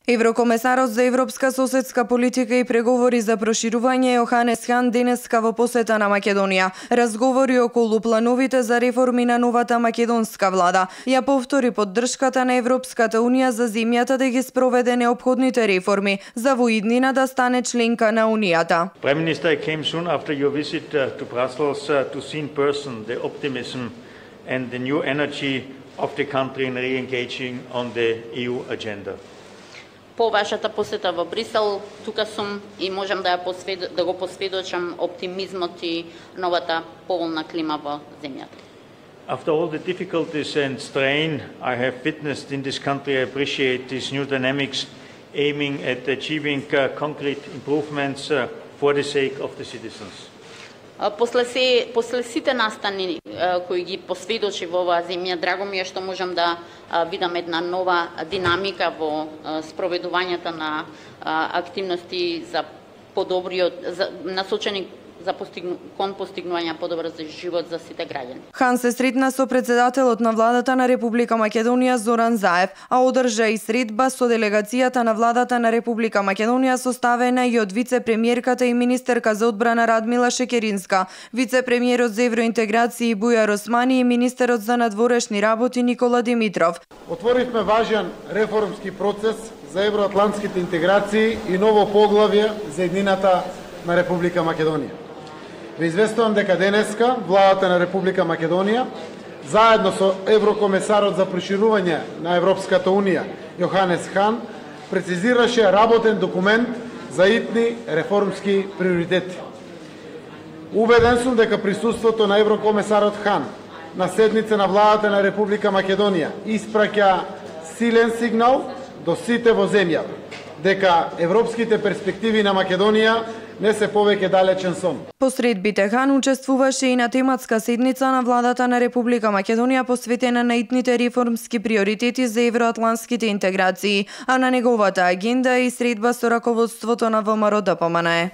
Еврокомесарот за европска соседска политика и преговори за проширување Јоханес Хан денеска во посета на Македонија. Разговори околу плановите за реформи на новата македонска влада. Ја повтори поддршката на Европската унија за земјата да ги спроведе неопходните реформи за во иднина да стане членка на унијата. Prime Minister, I came soon after your visit to Brussels to see in person the optimism and the new energy of the country in re-engaging on the EU agenda. По вашата посета во Брисел, тука сум и можам да го посведочам оптимизмот и новата поволна клима во земјата. After all the difficulties and strain I have witnessed in this country, I appreciate these new dynamics aiming at achieving concrete improvements for the sake of the citizens. После сите настани кои ги посведочи во оваа земја, драго ми е што можам да видам една нова динамика во спроведувањето на активности за насочени кон постигнување подобар живот за сите граѓани. Хан се сретна со председателот на владата на Република Македонија Зоран Заев, а одржа и средба со делегацијата на владата на Република Македонија составена и од вице-премиерката и министерка за одбрана Радмила Шекеринска, вице-премиерот за евроинтеграција Бујар Османи и министерот за надворешни работи Никола Димитров. Отворивме важен реформски процес за евроатлантските интеграции и ново поглавје за еднината на Република Македонија. Ве известувам дека денеска владата на Република Македонија заедно со еврокомесарот за проширување на Европската унија Јоханес Хан прецизираше работен документ за итни реформски приоритети. Убеден сум дека присуството на еврокомесарот Хан на седница на владата на Република Македонија испраќа силен сигнал до сите во земјата дека европските перспективи на Македонија не се повеќе далечен сон. По средбите Хан учествуваше и на тематска седница на владата на Република Македонија посветена на итните реформски приоритети за евроатлантските интеграции, а на неговата агенда и средба со раководството на ВМРО ДПМНЕ.